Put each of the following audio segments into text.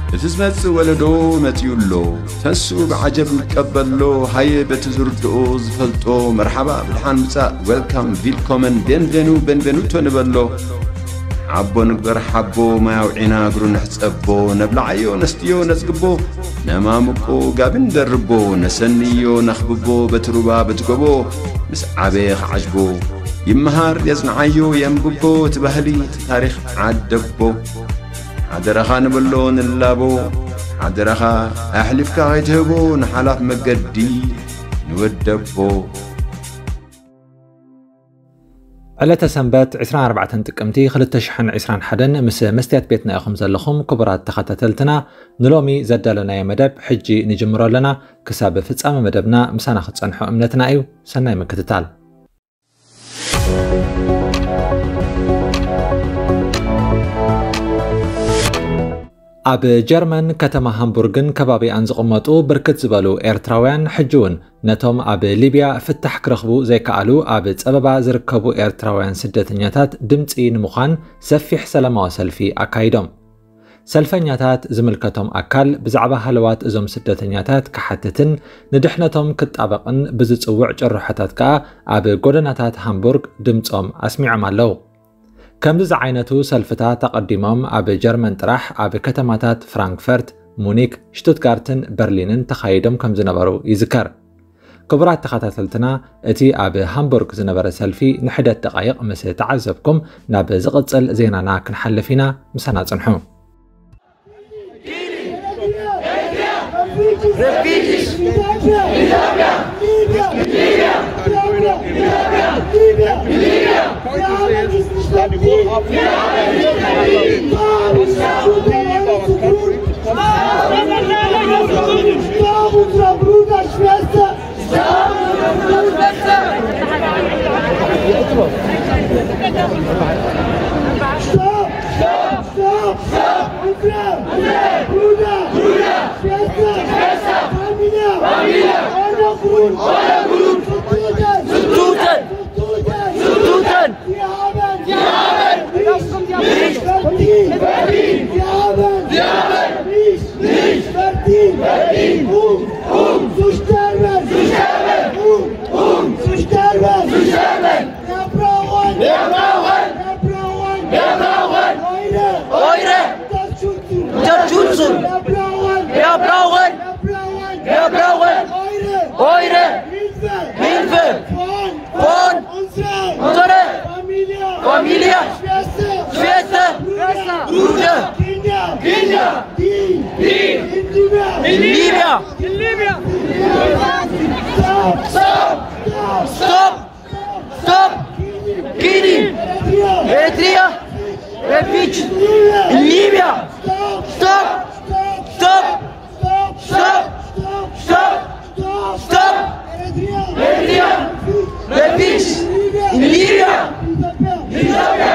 እቲ ዝመጽእ ወለዶ መጺኡ ኣሎ። ተንስኡ ብዓጀብ ንቀበሎ። ሃየ በቲ ዝርድኦ ዝፈልጦ መርሓባ ብድሓን ምጻእ፣ ዌልካም፣ ቪልኮመን፣ ቤንቬኑ፣ ቤንቬኑቶ ንበሎ። ሓቦ ንግበር ሓቦ፣ ማይ ኣውዒና እግሩ ንሕጸቦ። ነብልዓዮ ነስትዮ ነጽግቦ፣ ነማሙቆ ጋቢ ንደርቦ። ነሰንዮ ነኽብቦ በቲ ሩባ በቲ ጎቦ። ምስ ዓበየ ክዓጅቦ ይመሃር የጽንዓዮ የንብቦ። እቲ ባህሊ እቲ ታሪኽ ዓደቦ። ሓደራኻ ንበሎ ንላቦ። ሓደራኻ ኣሕሊፍካ ከይትህቦ ንሓላፍ መገዲ ንወደቦ። ዕለተ ሰንበት ዕስራን ኣርባዕተን ጥቅምቲ ክልተ ሽሕን ዕስራን ሓደን ምስ መስትያት ቤትና ኢኹም ዘለኹም ክቡራት ተኸታተልትና፣ ንሎሚ ዘዳለናዮ መደብ ሕጂ ንጅምሮ ኣለና። ክሳብ ፍጻመ መደብና ምሳና ክትጸንሑ እምነትና እዩ። ሰናይ ምክትታል። ኣብ ጀርመን ከተማ ሃምቡርግን ከባቢኣን ዝቕመጡ ብርክት ዝበሉ ኤርትራውያን ሕጂ እውን ነቶም ኣብ ሊብያ ፍታሕ ክረኽቡ ዘይከኣሉ ኣብ ጸበባ ዝርከቡ ኤርትራውያን ስደተኛታት ድምጺ ንምዃን ሰፊሕ ሰላማዊ ሰልፊ ኣካይዶም። ሰልፈኛታት ዝምልከቶም ኣካል ብዛዕባ ሃለዋት እዞም ስደተኛታት ክሓትትን ንድሕነቶም ክጣበቕን ብዝጽውዕ ጭርሖታት ከኣ ኣብ ጎደናታት ሃምቡርግ ድምጾም ኣስሚዖም ኣለዉ። ከምዚ ዝዓይነቱ ሰልፍታት ኣቐዲሞም ኣብ ጀርመን ጥራሕ ኣብ ከተማታት ፍራንክፈርት፣ ሙኒክ፣ ሽቱትጋርትን በርሊንን ተኻይዶም ከም ዝነበሩ ይዝከር። ክቡራት ተኸታተልትና፣ እቲ ኣብ ሃምቡርግ ዝነበረ ሰልፊ ንሕደት ደቓይቕ ምስ ተዓዘብኩም፣ ናብ ዝቕጽል ዜናና ክንሓልፍ ኢና። ምሳና ጽንሑ። Stop! Stop! Stop! Killing! Eritrea! Refugees! In Libya! Stop! Stop! Stop! Stop! Stop! Stop! Eritrea! Refugees! In Libya! Ethiopia!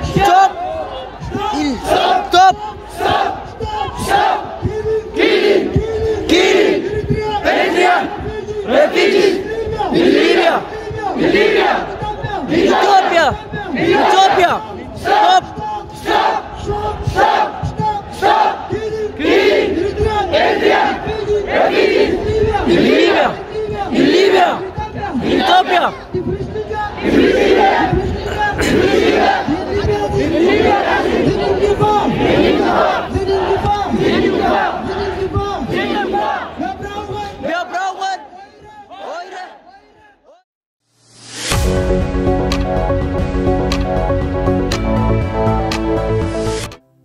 Stop! Stop! Stop! Stop! Killing! Killing! Eritrean refugees! In Libya! In Libya! Ethiopia! Ethiopia! Stop! Stop! Stop! Killing! Eritrean refugees! In Libya! In Libya! Ethiopia!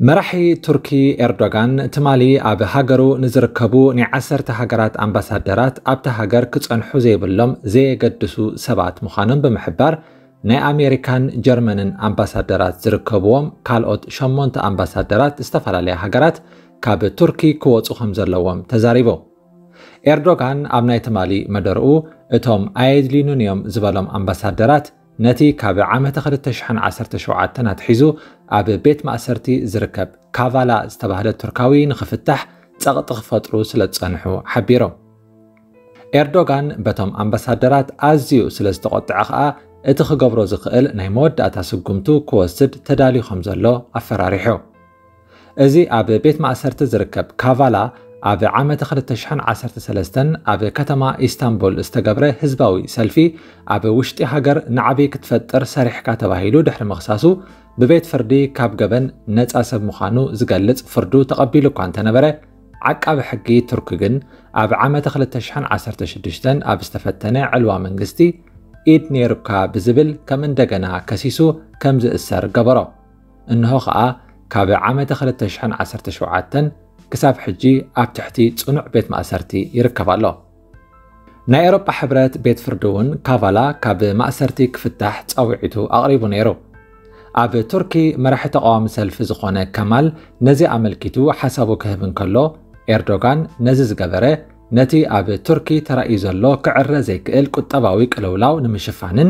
መራሒ ቱርኪ ኤርዶጋን ትማሊ ኣብ ሃገሩ ንዝርከቡ ናይ ዓሰርተ ሃገራት ኣምባሳደራት ኣብታ ሃገር ክጸንሑ ዘይብሎም ዘየገድሱ ሰባት ምዃኖም ብምሕባር፣ ናይ ኣሜሪካን ጀርመንን ኣምባሳደራት ዝርከብዎም ካልኦት ሸሞንተ ኣምባሳደራት ዝተፈላለያ ሃገራት ካብ ቱርኪ ክወጹ ከም ዘለዎም ተዛሪቡ። ኤርዶጋን ኣብ ናይ ትማሊ መደርኡ፣ እቶም ኣየድልዩንን እዮም ዝበሎም ኣምባሳደራት ነቲ ካብ ዓመተ ክልተ ሽሕን ዓሰርተ ሸውዓተን ኣትሒዙ ኣብ ቤት ማእሰርቲ ዝርከብ ካቫላ ዝተባህለ ቱርካዊ ንኽፍታሕ ጸቕጢ ክፈጥሩ ስለ ዝጸንሑ ሓቢሮም። ኤርዶጋን በቶም ኣምባሳደራት ኣዝዩ ስለ ዝተቖጥዐ ከኣ፣ እቲ ክገብሮ ዝኽእል ናይ መወዳእታ ስጉምቱ ክወስድ ተዳልዩ ከም ዘሎ ኣፈራሪሑ። እዚ ኣብ ቤት ማእሰርቲ ዝርከብ ካቫላ፣ ኣብ ዓመተ ክልተ ሽሕን ዓሰርተ ሰለስተን ኣብ ከተማ ኢስታንቡል ዝተገብረ ህዝባዊ ሰልፊ፣ ኣብ ውሽጢ ሃገር ናዕቢ ክትፈጥር ሰሪሕካ ተባሂሉ ድሕሪ ምኽሳሱ፣ ብቤት ፍርዲ ካብ ገበን ነጻ ሰብ ምዃኑ ዝገልጽ ፍርዱ ተቐቢሉ እኳ እንተነበረ፣ ዓቃቢ ሕጊ ቱርክ ግን ኣብ ዓመተ ክልተ ሽሕን ዓሰርተ ሽዱሽተን ኣብ ዝተፈተነ ዕልዋ መንግስቲ፣ ኢድ ነይሩካ ብዝብል ከም እንደገና ከሲሱ ከም ዝእሰር ገበሮ። እንሆ ኸኣ ካብ ዓመተ ክልተ ሽሕን ዓሰርተ ሸውዓተን ክሳብ ሕጂ ኣብ ትሕቲ ጽኑዕ ቤት ማእሰርቲ ይርከብ ኣሎ። ናይ ኤውሮጳ ሕብረት ቤት ፍርዲ እውን ካቫላ ካብ ማእሰርቲ ክፍታሕ ጻውዒቱ ኣቕሪቡ ነይሩ። ኣብ ቱርኪ መራሒ ተቓዋሚ ሰልፊ ዝኾነ ከማል ነዚ ኣመልኪቱ ሓሳቡ ክህብ እንከሎ፣ ኤርዶጋን ነዚ ዝገበረ ነቲ ኣብ ቱርኪ ተራእዩ ዘሎ ክዕረ ዘይክእል ቁጠባዊ ቅልውላው ንምሽፋንን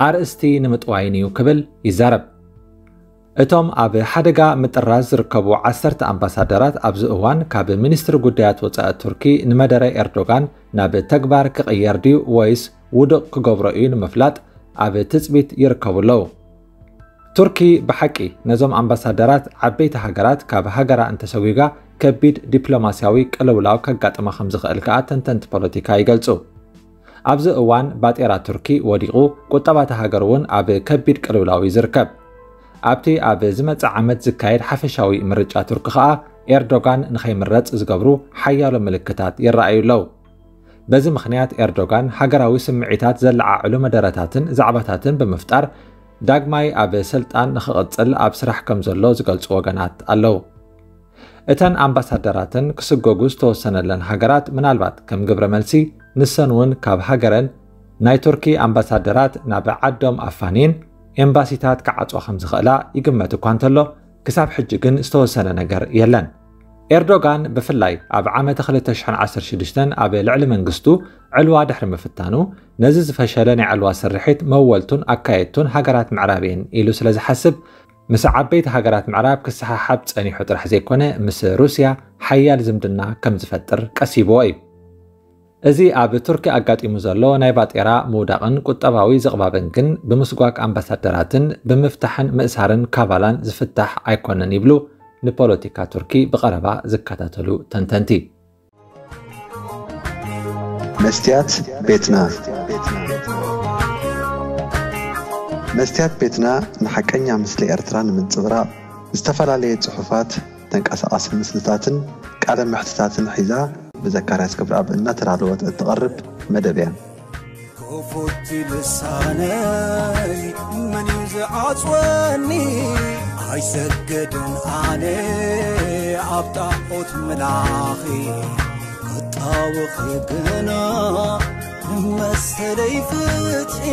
ኣርእስቲ ንምጥዋይን እዩ ክብል ይዛረብ። እቶም ኣብ ሓደጋ ምጥራዝ ዝርከቡ ዓሰርተ ኣምባሳደራት ኣብዚ እዋን ካብ ሚኒስትሪ ጉዳያት ወጻኢ ቱርኪ ንመደረ ኤርዶጋን ናብ ተግባር ክቕየር ድዩ ወይስ ውዱቕ ክገብሮ እዩ ንምፍላጥ ኣብ ትጽቢት ይርከቡ ኣለዉ። ቱርኪ ብሓቂ ነዞም ኣምባሳደራት ዓበይቲ ሃገራት ካብ ሃገራ እንተሰጒጋ ከቢድ ዲፕሎማስያዊ ቅልውላው ከጋጥማ ከም ዝኽእል ከኣ ተንተንቲ ፖለቲካ ይገልጹ። ኣብዚ እዋን ባጤራ ቱርኪ ወዲቑ፣ ቁጠባ እታ ሃገር እውን ኣብ ከቢድ ቅልውላው እዩ ዝርከብ። ኣብቲ ኣብ ዝመጽእ ዓመት ዝካየድ ሓፈሻዊ ምርጫ ቱርኪ ከኣ ኤርዶጋን ንኸይምረጽ ዝገብሩ ሓያሎ ምልክታት ይረኣዩ ኣለዉ። በዚ ምኽንያት ኤርዶጋን ሃገራዊ ስምዒታት ዘለዓዕሉ መደረታትን ዛዕባታትን ብምፍጣር ዳግማይ ኣብ ስልጣን ንኽቕጽል ኣብ ስራሕ ከም ዘሎ ዝገልጹ ወገናት ኣለዉ። እተን ኣምባሳደራትን ክስጎጉ ዝተወሰነለን ሃገራት ምናልባት ከም ግብረ መልሲ ንሰን እውን ካብ ሃገረን ናይ ቱርኪ ኣምባሳደራት ናብ ዓዶም ኣፋንየን ኤምባሲታት ክዓጽዋ ከም ዝኽእላ ይግመት እኳ እንተሎ ክሳብ ሕጂ ግን ዝተወሰነ ነገር የለን። ኤርዶጋን ብፍላይ ኣብ ዓመተ ክልተ ሽሕን ዓሰርተ ሽዱሽተን ኣብ ልዕሊ መንግስቱ ዕልዋ ድሕሪ ምፍታኑ ነዚ ዝፈሸለ ናይ ዕልዋ ስርሒት መወልቱን ኣካየድቱን ሃገራት ምዕራብ እየን ኢሉ ስለ ዝሓስብ ምስ ዓበይቲ ሃገራት ምዕራብ ክሰሓሓብ ጸኒሑ ጥራሕ ዘይኮነ ምስ ሩስያ ሓያል ዝምድና ከም ዝፈጥር ቀሲብዎ እዩ። እዚ ኣብ ቱርኪ ኣጋጢሙ ዘሎ ናይ ባጤራ ምውዳቕን ቁጠባዊ ዝቕባብን ግን ብምስጓግ ኣምባሳደራትን ብምፍታሕን ምእሳርን ካቫላን ዝፍታሕ ኣይኮነን ይብሉ ንፖለቲካ ቱርኪ ብቐረባ ዝከታተሉ ተንተንቲ። መስትያት ቤትና መስትያት ቤትና ንሓቀኛ ምስሊ ኤርትራ ንምንጽብራቕ ዝተፈላለየ ጽሑፋት፣ ተንቀሳቓሲ ምስልታትን ቃለ መሕትታትን ሒዛ ብዘካርያስ ገብረኣብ እናተዳለወት እትቐርብ መደብ እያ። ክፉት ልሳነይ መን እዩ ዝዓጽወኒ? ኣይሰግድን ኣነ ኣብ ጣዖት ምላኺ ክጣወኺ ግና መሰለይ ፍትሒ